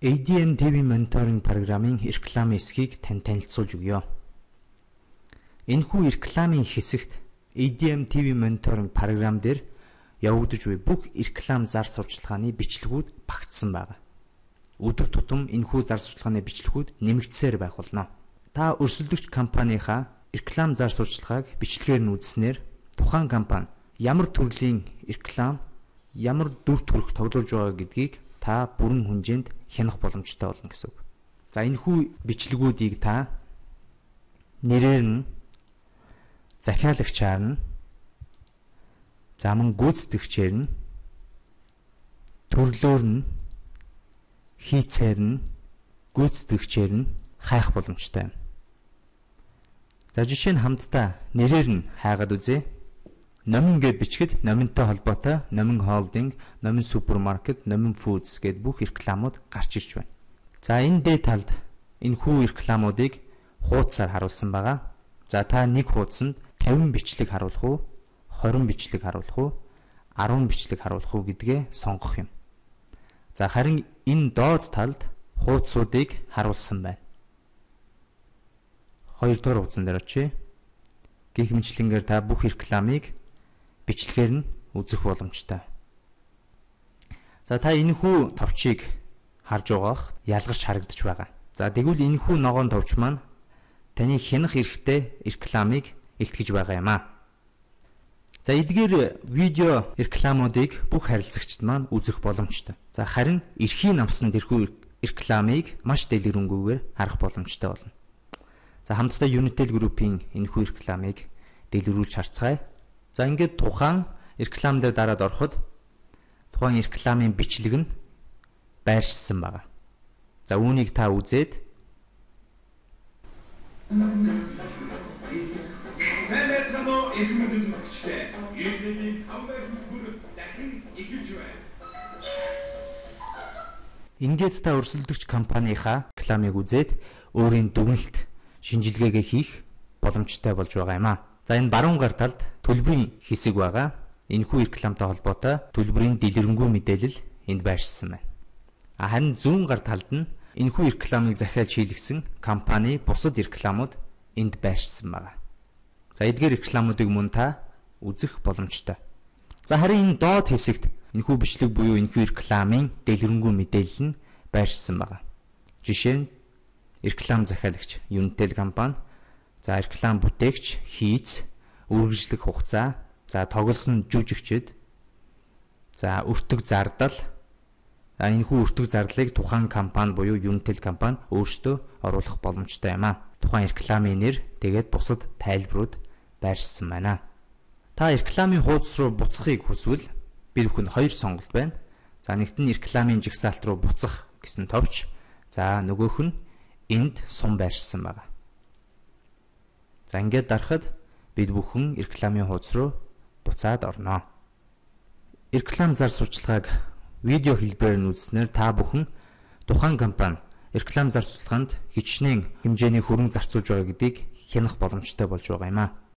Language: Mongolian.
ADM TV мониторинг програмын рекламын эсхийг тань танилцуулж өгье. Энэхүү рекламын хэсэгт ADM TV мониторинг програм дээр явагдаж буй бүх реклам зар сурталчилгааны бичлэгүүд багтсан байна. Өдөр тутам энэхүү зар сурталчилгааны бичлэгүүд нэмэгдсээр байх болно. Та өрсөлдөгч компанийнхаа реклам зар сурталчилгааг бичлэгээр нь үзснээр тухайн компани ямар төрлийн реклам, ямар дүр төрх тоглуулж байгаа гэдгийг та бүрэн хүнжээнд хянах боломжтой болно гэсэн үг. За энэхүү бичлэгүүдийг та нэрээр нь, захиалагчаар нь, заман гүйцэтгэгчээр нь, төрлөөр нь, хийцээр нь, гүйцэтгэгчээр нь хайх боломжтой юм. За жишээ нь хамтдаа нэрээр нь хайгаад үзье. Номин гэд бичгэд номинтой холбоотой Номин Холдинг, Номин Супермаркет, Номин Фудс гэд бүх рекламууд гарч ирж байна. За энэ дээд талд энэхүү рекламуудыг хуудасаар харуулсан байгаа. За та нэг хуудсанд 50 бичлэг харуулах уу, 20 бичлэг харуулах уу, 10 бичлэг харуулах уу гэдгээ сонгох юм. За харин энэ доод талд хуудсуудыг харуулсан байна. 2 дугаар хуудсан дээр очие. Гэх мэтлэнгээр та бүх рекламыг бичлэгээр нь үзэх боломжтой. За та энэхүү товчийг харж байгаах ялгарч харагдаж байгаа. За тэгвэл энэхүү ногоон товч маань таны хянах эрхтэй рекламыг илтгэж байгаа юм аа. За эдгээр видео рекламуудыг бүх харилцагчид маань үзэх боломжтой. За харин эрхийн авсан тэрхүү рекламыг маш дэлгэрэнгүйгээр харах боломжтой болно. За хамтдаа Unitel Group-ийн энэхүү рекламыг дэлгэрүүлж харцгаая. За ингээд тухайн реклам дээр дараад ороход тухайн рекламын бичлэг нь байршсан байна. За үүнийг та үзээд ингээд та өрсөлдөгч компанийнхаа рекламыг үзээд өөрийн дүгнэлт, шинжилгээгээ хийх боломжтой болж байгаа юм аа. За энэ баруун гар талд төлбөрийн хэсэг байгаа. Энэхүү рекламтай холбоотой төлбөрийн дэлгэрэнгүй мэдээлэл энд байршсан байна. Харин зүүн гар талд нь энэхүү рекламыг захиалж хийлгсэн компани бусад рекламууд энд байршсан байна. За эдгээр рекламуудыг мөн та үзэх боломжтой. За харин энэ доод хэсэгт энэхүү бичлэг буюу энэхүү рекламын дэлгэрэнгүй мэдээлэл нь байршсан байна. Жишээ нь реклам захиалагч Unitel компани, за реклам бүтээгч Хийц, үргэлжлэх хугацаа, за тоглосон жүжигчид, за өртөг зардал. Энэхүү өртөг зардлыг тухайн компани буюу Unitel компани өөрсдөө оруулах боломжтой юм аа. Тухайн рекламын нэр, тэгээд бусад тайлбарууд байршсан байна. Та рекламын хуудас руу буцахыг хүсвэл bir бүхэнд 2 сонголт байна. За нэгт нь рекламын жагсаалт руу буцах гэсэн товч, за нөгөөх нь энд сум байршсан байна. За ингээд дарахад бид бүхэн рекламын хуудас руу буцаад орно. Реклам зар сурталчилгааг видео хэлбэрээр нь үзснээр та бүхэн тухайн компани реклам зар сурталчилгаанд хичнээн хэмжээний хөрөнгө зарцуулж байгаа гэдгийг хянах боломжтой болж байгаа юм аа.